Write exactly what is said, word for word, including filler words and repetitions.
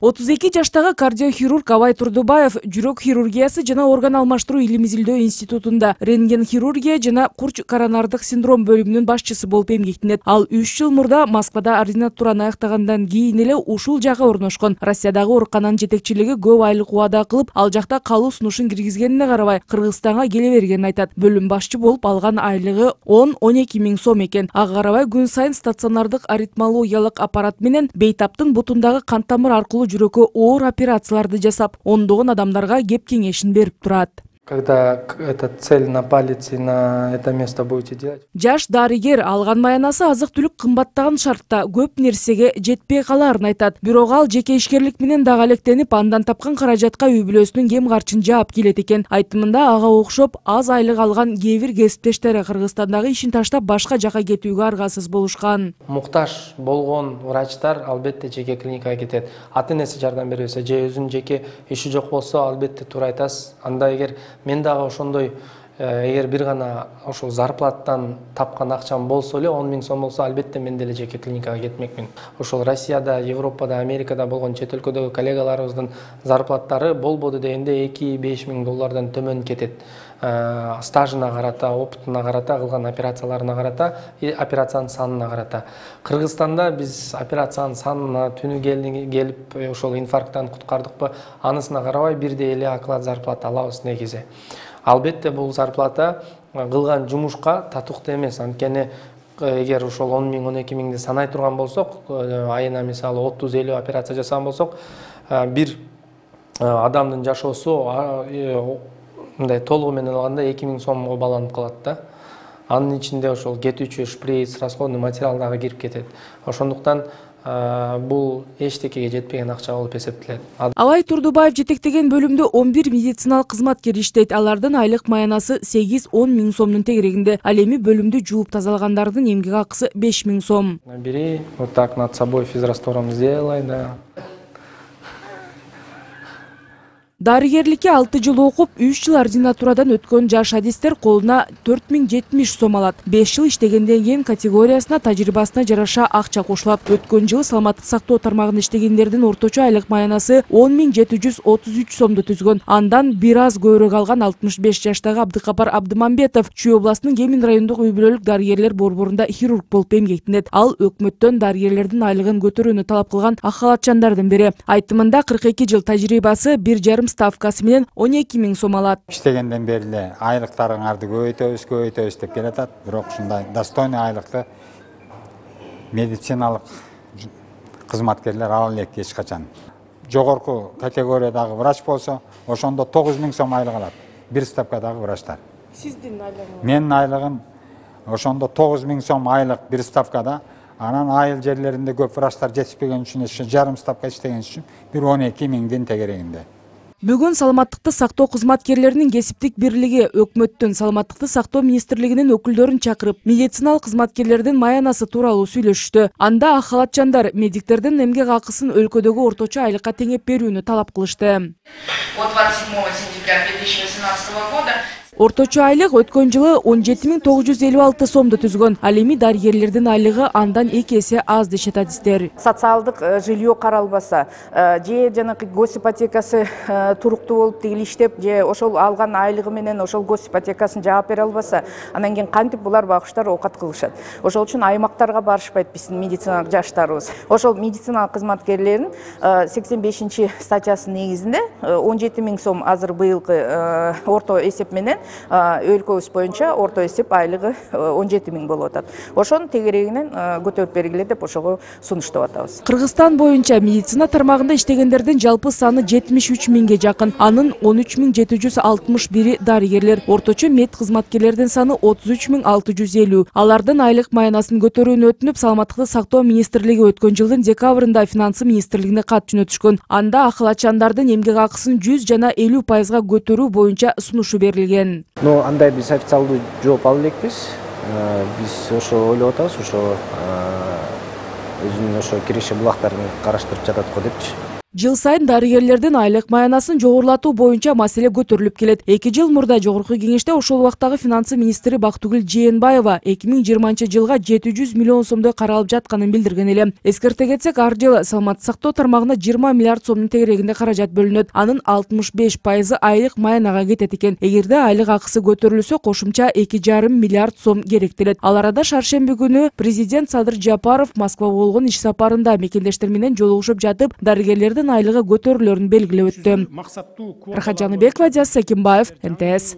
отуз эки жаштагы кардиохирург Абай Турдубаев жүрөк хирургиясы жана орган алмаштыруу илим изилдөө институтунда рентген хирургия жана курч коронардык синдром бөлүмүнүн башчысы болуп эмгектенет. Ал үч жыл мурда Москвада ординатураны аяктагандан кийин эле ушул жакка орношкон. Россиядагы оорукананын жетекчилиги көп айлык убада кылып, ал жакта калуу сунушун киргизгенине карабай, Кыргызстанга келе бергенин айтат. Бөлүм башчы болуп алган айлыгы он он эки миң сом экен. Ага карабай күн сайын стационардык аритмологиялык аппарат менен бейтаптын бутундагы кан тамыр аркылуу жүрөккө оор операцияларды жасап, ондогон адамдарга кеп кеңешин берип турат. Когда эта цель на палец и на это место будете делать. Жаш дарыгер алган маянасы азык-түлүк кымбаттаган шартта көп нерсеге жетпей каларын айтат. Бирок ал жеке ишкерлик менен дагы алектенип, андан тапкан каражатка үй бүлөсүнүн кем карчын жаап келет экен. Айтымында ага окшоп аз айлык алган кээ бир кесиптештери Кыргызстандагы ишин таштап башка жака кетүүгө аргасыз болушкан. Муктаж болгон врачтар албетте жеке клиникага кетет. Ата-энеси жардам бербесе же өзүнүн жеке иши жок болсо, албетте туура айтасыз. Анда эгер мен дагы ошондой эгер бир гана ошол зарплаттан тапкан акчам болсо эле он миң сом болсо, албетте мен деле жеке клиникага кетмекмин. Ошол Россияда, Европада, Америкада болгон чет өлкөдөгү коллегаларыбыздын зарплаттары болбоду дегенде эки беш миң доллардан төмөн кетет. Стажына карата, опытына карата, кылган операцияларына карата, операциянын санына карата. Кыргызстанда биз операциянын санына түнү келип ошол инфаркттан куткардыкпы, анысына карабай бирдей эле оклад зарплата алабыз негизи. Албетте бул зарплата кылган жумушка татыктуу эмес. Анткени эгер ошол он миң он эки миңди санай турган болсок, айына мисалы отуз элүү операция жасаган болсок, бир адамдын жашоосу мындай толугу менен алганда эки миң сомго баланып калат да. Анын ичинде ошол кетүүчү шприц, расходный материал дагы кирип кетет. Ошондуктан бул эчтекеге жетпеген акча болуп эсептелет. Абай Турдубаев жетектеген бөлүмдө он бир медициналык кызматкер иштейт. Алардын айлык маянасы сегиз он миң сомдун тегерегинде. Ал эми бөлүмдү жууп тазалагандардын эмгек акысы беш миң сом. Бери, вот так над собой физраствором сделай, да. Дарыгерликке алты жыл окуп, үч жыл ординатурадан өткөн жаш адистер колуна төрт миң жетимиш сом алат. беш жыл иштегенден кийин категориясына, тажрыйбасына жараша акча кошулат. Өткөн жылы саламаттык сактоо тармагында иштегендердин орточо айлык маянасы он миң жети жүз отуз үч сомду түзгөн. Андан бир аз көбүрөөк алган алтымыш беш жаштагы Абдыкапар Абдымамбетов Чүй областынын Кемин райондук үй бүлөлүк дарыгерлер борборунда хирург болуп эмгектенет. Ал өкмөттөн дарыгерлердин айлыгын көтөрүүнү талап кылган ак халатчандардын бири. Айтымында кырк эки жыл тажрыйбасы, бир жарым ставкасы менен он эки миң сом алат. Иштегенден бери эле айлыктарыңарды көбөйтөбүз, көбөйтөбүз деп келатат. Бирок ушундай достойный айлыкты медициналык кызматкерлер ала элек эч качан. Жогорку категориядагы врач болсо, ошондо тогуз миң сом айлык алат. Бир ставкадагы врачтар. Сиздин айлыгыңыз? Менин айлыгым ошондо тогуз миң сом айлык бир ставкада. Анан айыл жерлеринде көп врачтар жетишпеген үчүн жарым ставка иштеген үчүн бир он эки миңдин тегерегинде. Бүгүн саламаттыкты сактоо кызматкерлеринин кесиптик бирлиги өкмөттүн саламаттыкты сактоо министрлигинин өкүлдөрүн чакырып, медициналык кызматкерлердин маянасы тууралуу сүйлөшүштү. Анда ак халатчандар медиктердин эмгек акысын өлкөдөгү орточо айлыкка теңеп берүүнү талап кылышты. От двадцать седьмого сентября две тысячи восемнадцатого года Орточо айлык өткөн жылы он жети миң тогуз жүз элүү алты сомду түзгөн. Ал эми дарыгерлердин айлыгы андан эки эсе аз дешет адистер. Социалдык жилье каралбаса, же жанакы госипотекасы туруктуу болуп тигил иштеп, же ошол алган айлыгы менен ошол госипотекасын жаап бере албаса, анан кийин кантип булар багыштар оокат кылышат. Ошол үчүн аймактарга барышпайт биздин медициналык жаштарыбыз. Ошол медициналык кызматкерлердин сексен бешинчи статьясынын негизинде он жети миң сом азыр быйылкы орто эсеп менен өлкөбүз боюнча орто эсеп айлыгы он жети миң болуп атат. Ошонун тегерегинен көтөрүп бергиле деп ошого сунуштап атабыз. Кыргызстан боюнча медицина тармагында иштегендердин жалпы саны жетимиш үч миңге жакын. Анын он үч миң жети жүз алтымыш бири дарыгерлер. Орточо мед кызматкерлердин саны отуз үч миң алты жүз элүү. Алардын айлык маянасын көтөрүүнү өтүнүп, саламаттыкты сактоо министрлиги өткөн жылдын декабрында финансы министрлигине кат жөнөтүшкөн. Анда ак халатчандардын эмгек акысын жүз жана элүү пайызга көтөрүү боюнча сунушу берилген. Но андай биз официалдуу жооп ала элекпиз. Биз ошо ойлоп атабыз, ошо өзүнүн ошо киреше булактарын караштырып жатат го депчи. Жыл сайын дарыгерлердин айлык маянасын жогорулатуу боюнча маселе көтөрүлүп келет. эки жыл мурда жогорку кеңеште ошол убактагы финансы министри Бактыгүл Жээнбаева эки миң жыйырманчы жылга жети жүз миллион сомдой каралып жатканын билдирген эле. Эскерте кетсек, ар жылы саламаттык сактоо тармагына жыйырма миллиард сомдун тегерегинде каражат бөлүнөт. Анын алтымыш беш пайызы айлык маянага кетет экен. Эгерде айлык акысы көтөрүлсө, кошумча эки жарым миллиард сом керектелет. Ал арада шаршемби күнү президент Садыр Жапаров Москвага болгон иш сапарында мекендештер менен жолугушуп жатып, дарыгерлердин айлыгы көтөрүлөрүн белгилеп өттү. Рахат Жаныбекова, Диас Сакимбаев, эн тэ эс.